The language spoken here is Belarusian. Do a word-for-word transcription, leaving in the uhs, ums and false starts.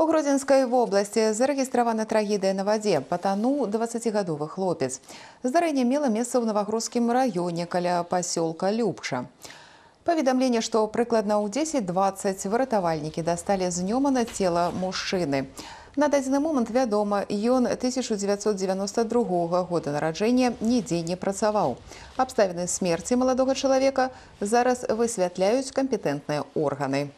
У Гродзенскай вобласці зарэгістравана трагедыя на вадзе. Патануў дваццацігадовы хлопец. Здарэнне мела месца ў Навагрудскім раёне каля пасёлка Любча. Паведамленне, што прыкладна ў дзесяць дваццаць выратавальнікі дасталі з нёмана цела мужчыны. На дадзены момант вядома, ён тысяча дзевяцьсот дзевяноста другога года нараджэння, нідзе не працаваў. Абставіны смерці маладога чалавека зараз высвятляюць кампетэнтныя органы.